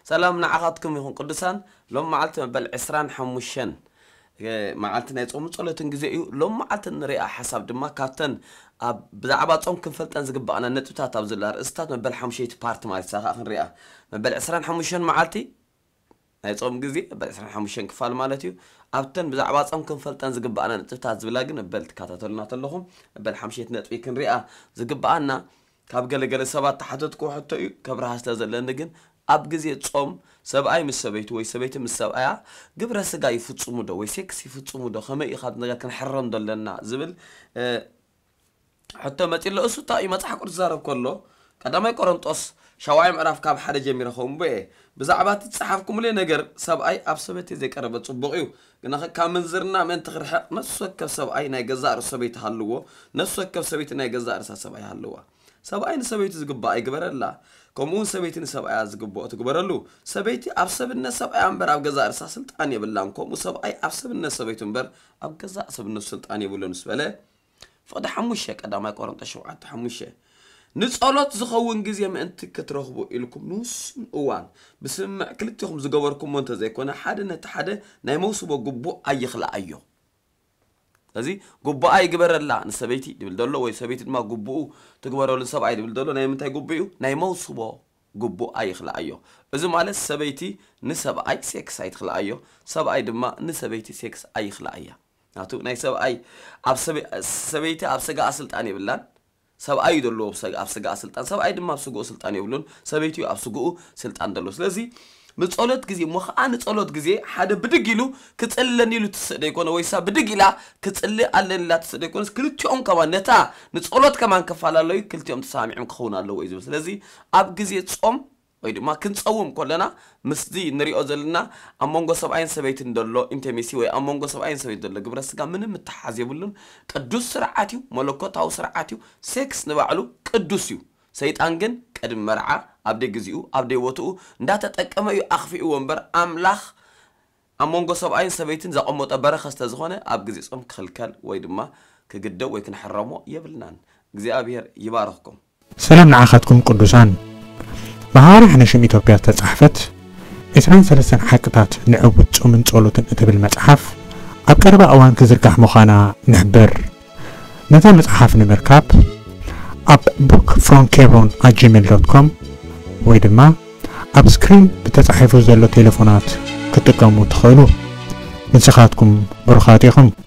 ሰላም ንዓኻትኩም ይኹን ቅዱሳን። ሎም መዓልቲ መበል ዕስራን ሓሙሽተን መዓልቲ ናይ ጾምን ጸሎትን ግዜ እዩ። ሎም መዓልቲ ንሪኣ ሓሳብ ድማ ካብተን ኣብ ብዛዕባ ጾም ክንፈልጠን ዝግባኣና ነጥብታት ኣብ ዝብላ ርእስታት መበል ሓሙሽተይቲ ፓርት ማለት እሳ ከዓ ክንሪኣ። መበል ዕስራን ሓሙሽተን መዓልቲ ናይ ጾም ግዜ መበል ዕስራን ሓሙሽተን ክፋል ማለት እዩ። ኣብተን ብዛዕባ ጾም ክንፈልጠን ዝግባኣና ነጥብታት ዝብላ ግን መበል ትከታተሉና ተለኹም መበል ሓሙሽተይቲ ነጥቢ ክንሪኣ ዝግባኣና ካብ ገለገለ ሰባት ተሓተትኩ ሕቶ እዩ። ከብርሃ ስለ ዘለኒ ግን ኣብ ግዜ ጾም ሰብኣይ ምስ ሰበይቱ ወይ ሰበይቲ ምስ ሰብኣያ ግብረ ስጋ ይፍጽሙ ዶ ወይ ሴክስ ይፍጽሙ ዶ ከመይ እዩ ካብ ነገር ክንሕረም ደለና ዝብል ሕቶ መጺ ኣሎ። እሱ እንታይ እዩ መጽሓፍ ቅዱስ ዝዛረብ ከሎ ቀዳማይ ቆሮንጦስ ሻውዓይ ምዕራፍ ካብ ሓደ ጀሚረ ከንብቦ እየ። ብዛዕባ እቲ ዝጸሓፍኩምለይ ነገር ሰብኣይ ኣብ ሰበይቲ ዘይቀረበ ጽቡቕ እዩ፣ ግናኸ ካብ ምንዝርና ምእንቲ ክርሕቕ ነፍሲ ወከፍ ሰብኣይ ናይ ገዛእ ርእሱ ሰበይቲ ሃልዎ፣ ነፍሲ ወከፍ ሰበይቲ ናይ ገዛእ ርእሳ ሰብኣይ ሃልዋ። ሰብኣይ ንሰበይቱ ዝግባኣ ይግበረላ፣ ከምኡ እውን ሰበይቲ ንሰብኣያ ዝግብኦ ትግበረሉ። ሰበይቲ ኣብ ሰብነት ሰብኣያ እምበር ኣብ ገዛእ ርእሳ ስልጣን የብላን፣ ከምኡ ሰብኣይ ኣብ ሰብነት ሰበይቱ እምበር ኣብ ገዛእ ሰብነቱ ስልጣን የብሉን ምስ በለ ፍቕዲ ሓሙሽተ ቀዳማይ ቆሮንጦስ ሸውዓተ ሓሙሽተ ንጸሎት ዝኸውን ግዜ ምእንቲ ክትረኽቡ ኢልኩም ንውሱን እዋን ብስምምዕ ክልቲኹም ዝገበርኩሞ እንተዘይኮነ ሓደ ነቲ ሓደ ናይ መውስቦ ግቡእ ኣይኽልኣዮ። ስለዚ ግቡኣ ይግበረላ ንሰበይቲ ድብል ዘሎ ወይ ሰበይቲ ድማ ግቡኡ ትግበረሉ ሰብኣይ ድብል ዘሎ ናይ ምንታይ ግቡእ እዩ? ናይ መውስቦ ግቡኣ ይኽልኣዮ። እዚ ማለት ሰበይቲ ንሰብኣይ ሴክስ ኣይትኽልኣዮ፣ ሰብኣይ ድማ ንሰበይቲ ሴክስ ኣይኽልኣያ። ናቱ ናይ ሰብኣይ ኣብ ሰበ- ሰበይቲ ኣብ ስጋኣ ስልጣን የብላን። ሰብኣይ እዩ ዘለዎ ኣብ ስጋ- ኣብ ስጋኣ ስልጣን፣ ሰብኣይ ድማ ኣብ ስግኡ ስልጣን የብሉን። ሰበይቲ እዩ ኣብ ስግኡ ስልጣን ዘለዎ። ስለዚ ንጸሎት ግዜ እሞ ከዓ ንጸሎት ግዜ ሓደ ብድግ ኢሉ ክጽልለኒ ኢሉ ትስእ ደይኮነ ወይ ሳ ብድግ ኢላ ክጽሊ ኣለኒ ኢላ ትስእ ደይኮነስ ክልቲኦም ከማን ነታ ንጸሎት ከማን ከፈላለዩ ክልቲኦም ተሰማሚዖም ክኸውን ኣለዎ እዩ ዝብል። ስለዚ ኣብ ግዜ ጾም ወይ ድማ ክንጸውም ከለና ምስዚ ንሪኦ ዘለና ኣብ መንጎ ሰብኣይን ሰበይትን ዘሎ ኢንቲሜሲ ወይ ኣብ መንጎ ሰብኣይን ሰበይትን ዘሎ ግብረ ስጋ ምንም ምትሓዝ የብሉን። ቅዱስ ስርዓት እዩ፣ መለኮታዊ ስርዓት እዩ። ሴክስ ንባዕሉ ቅዱስ እዩ። ሰይጣን ግን ቅድሚ መርዓ ኣብ ደይ ግዜኡ ኣብ ደይ ቦትኡ እንዳተጠቀመ እዩ ኣኽፊእዎ እምበር ኣምላኽ ኣብ መንጎ ሰብኣይን ሰበይትን ዘቐመጦ በረኸት ስለዝኾነ ኣብ ግዜ ጾም ክኽልከል ወይ ድማ ክግደብ ወይ ክንሕረሞ የብልናን። እግዚኣብሔር ይባርኽኩም። ሰላም ንዓኻትኩም ቅዱሳን። ብሃዋርያ ሓነሽም ኢትዮጵያ ዝተጻሕፈት ዕስራን ሰለስተን ሓቅታት ንዕቡት ጾምን ጸሎትን እትብል መጽሓፍ ኣብ ቀረባ እዋን ክዝርጋሕ ምዃና ንሕብር። ነዛ መጽሓፍ ንምርካብ ኣብ book from Kebron at gmail dot com ወይ ድማ ኣብ ስክሪን ብተጻሒፉ ዘሎ ቴሌፎናት ክትጥቀሙ ትኽእሉ። ንስኻትኩም ብሩኻት ኢኹም።